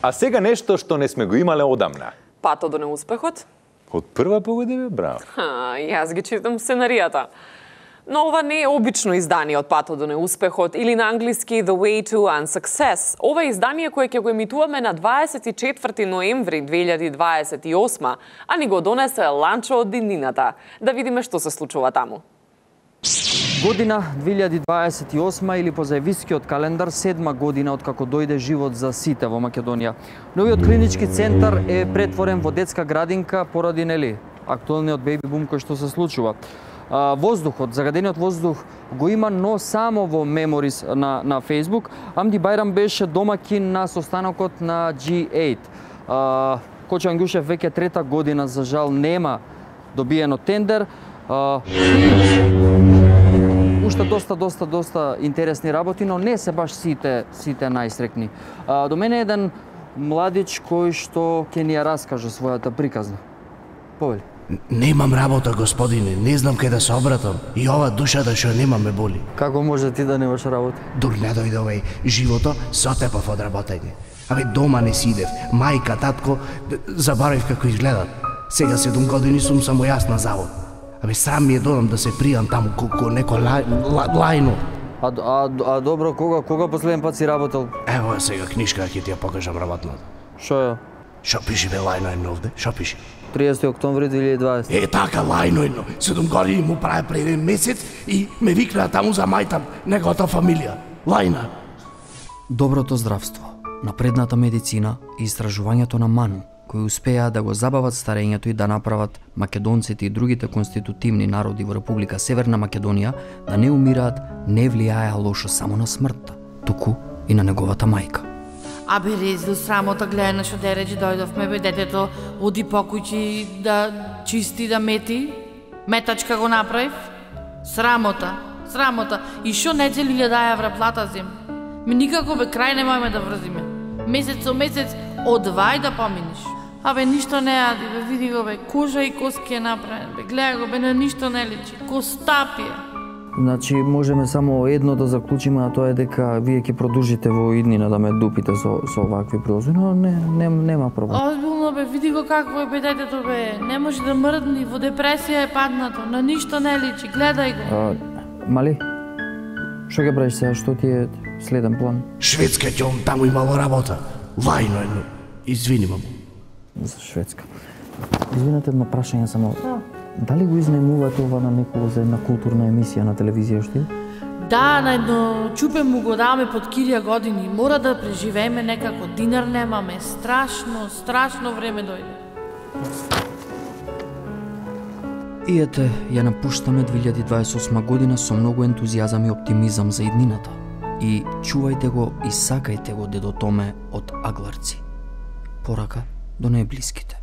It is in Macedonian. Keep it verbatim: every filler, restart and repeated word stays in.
А сега нешто што не сме го имале одамна. Патот до неуспехот? Од прва погода, бе, браво. Ха, јас ги читам сценаријата. Но ова не е обично издание од Патот до неуспехот или на англиски The Way to Unsuccess. Ова е издание кое ќе го емитуваме на дваесет и четврти ноември две илјади дваесет и осма, а ни го донесе Ланчо од иднината. Да видиме што се случува таму. Година две илјади дваесет и осма или по заевискиот календар седма година од како дојде живот за сите во Македонија. Новиот клинички центар е претворен во детска градинка поради нели актуелниот бејби бум кој што се случува. Воздухот, загадениот воздух го има, но само во меморис на на Facebook. Амди Бајрам беше домакин на состанокот на Джи осем. Кочо Ангјушев веќе трета година за жал нема добиено тендер. Уште доста, доста, доста интересни работи, но не се баш сите, сите најсрекни. А, до мене е еден младич кој што ќе ни ја раскаже својата приказна. Повели. Немам работа, господине, не знам кај да се обратам. И ова душата што немам ме боли. Како може ти да немаш работа? Дур не дојде овај живото, се отепав од работење. Абе, дома не сидев, мајка, татко, заборавив како изгледат. Сега седум години сум само јас на завод. Абе, срам ми е додам да се пријам таму ко некој лај, лајно. А, а, а добро, кога, кога последен пат си работел? Ево сега книжка ќе ти ја покажам работната. Шо е? Шо пиши бе лајно едно овде? Шо пиши? триесети октомври две илјади и дваесета. Е, така, лајно едно. Седум години му праве пред еден месец и ме викнаа таму за мајта неговата фамилија. Лајна. Доброто здравство, напредната медицина и истражувањето на Ману, кои успеа да го забават старењето и да направат македонците и другите конститутивни народи во Република Северна Македонија да не умираат, не влијаеа лошо само на смртта, туку и на неговата мајка. Абе, резил срамота, гледај на што дереđи дојдовме, бе, детето оди покуќи да чисти, да мети. Метачка го направив. Срамота, срамота. И шо недели илјада евра плата зим. Ми никако, бе, крај не можеме да врзиме. Месец со месец одвај да поминиш. Абе, ништо не јади, бе, види го, бе, кожа и коски е направен, бе, гледа го, бе, на ништо не личи, костапи е. Значи, можеме само едно да заклучиме, а тоа е дека вие ќе продолжите во иднина да ме дупите со, со овакви прилози, но не, не, нема проблем. Озбилно, бе, види го какво е, бе, детето, бе, не може да мрдни, во депресија е паднато, на ништо не личи, гледај го. А, Мали, што ќе правиш сега, што ти е следен план? Шведска ќе таму имало работа. Лајно едно. Извини, мамо. За Шведска. Извинете, едно прашање само. Дали го изнемувате ова на некого за една културна емисија на телевизија што? Да, на едно чупе му го даваме под килја години. Мора да преживееме некако. Динар немаме. Страшно, страшно време дојде. И ете, ја напуштаме две илјади дваесет и осма година со многу ентузијазам и оптимизам за иднината. И чувајте го и сакајте го, дедо Томе од Агларци. Порака до најблиските.